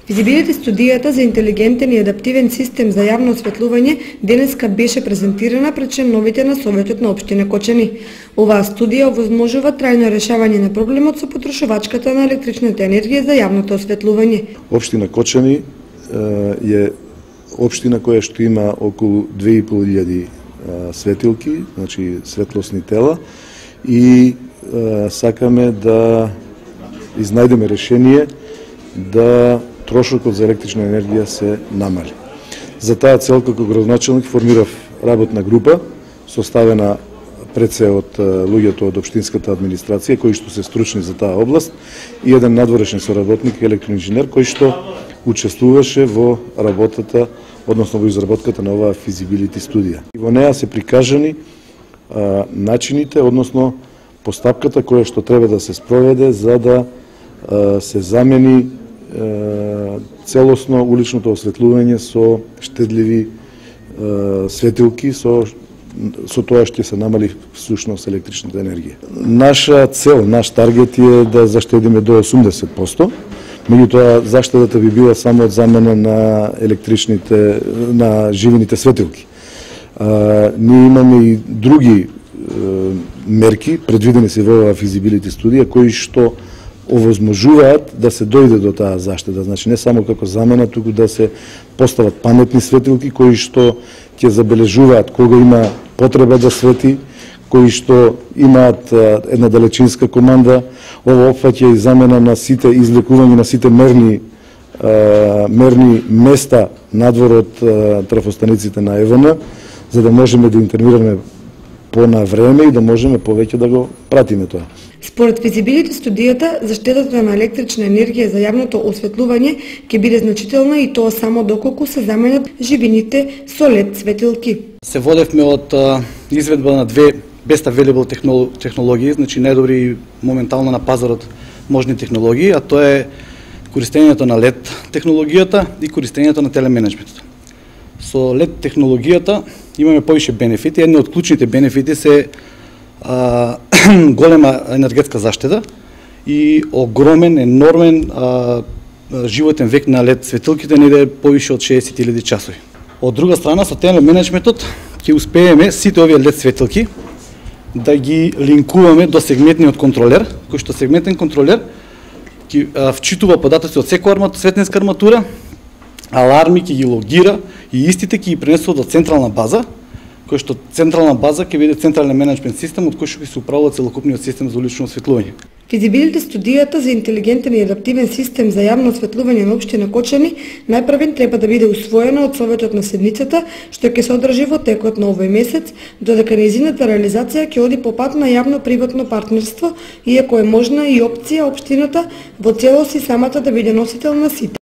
Физибилити студијата за интелигентен и адаптивен систем за јавно осветлување денеска беше презентирана пред членовите на Советот на општина Кочани. Оваа студија овозможува трајно решавање на проблемот со потрошувачката на електричната енергија за јавното осветлување. Општина Кочани е општина која што има околу 2500 светилки, значи светлосни тела, и сакаме да изнајдеме решение да трошокот за електрична енергија се намали. За таа цел, како градоначелник, формирав работна група, составена пред се од луѓето од општинската администрација, кои што се стручни за таа област, и еден надворешен соработник, електроинженер, кој што учествуваше во работата, односно во изработката на оваа физибилити студија. И во неа се прикажани начините, односно постапката која што треба да се спроведе за да се замени целосно уличното осветлување со штедливи светилки, со тоа што се намали всушност електричната енергија. Наша цел, наш таргет е да заштедиме до 80%, меѓутоа заштедата би била само од замена на електричните, на живините светилки. Ние имаме и други мерки, предвидени се во оваа физибилити студија, кои што овозможуваат да се дојде до таа заштеда. Значи не само како замена, туку да се постават паметни светилки кои што ќе забележуваат кога има потреба да свети, кои што имаат една далечинска команда. Ова опфаќа и замена на сите, излекување на сите мерни места надвор од трафостаниците на ЕВН, за да можеме да интервенираме на време и да можеме повеќе да го пратиме тоа. Според физибилити студијата, заштедата на електрична енергија за јавното осветлување ќе биде значителна и тоа само доколку се заменат живините со LED светилки. Се водевме од изведба на две best available технологии, значи најдобри моментално на пазарот можни технологии, а тоа е користењето на LED технологијата и користењето на телеменеджментот. Со LED технологијата имаме повише бенефити. Една од клучните бенефити се голема енергетска заштеда и огромен, енормен животен век на LED светилките, не е повише од 60.000 часови. Од друга страна, со телеменеджментот ќе успееме сите овие LED светилки да ги линкуваме до сегментниот контролер, кој што сегментен контролер ќе вчитува податоци од секоја светлинска арматура, аларми ќе ги логира и истите ќе ги пренесува до централна база, кој што централна база ќе биде централен менеджмент систем од кој што ќе се управува целокупниот систем за улично осветлување. Физибилити студијата за интелигентен и адаптивен систем за јавно осветлување на општина Кочани најпрвен треба да биде усвоена од Советот на седницата, што ќе се одржи во текот на овој месец, додека нејзината реализација ќе оди по пат на јавно-приватно партнерство, иако е можна и опција општината во целост и самата да биде носител на сите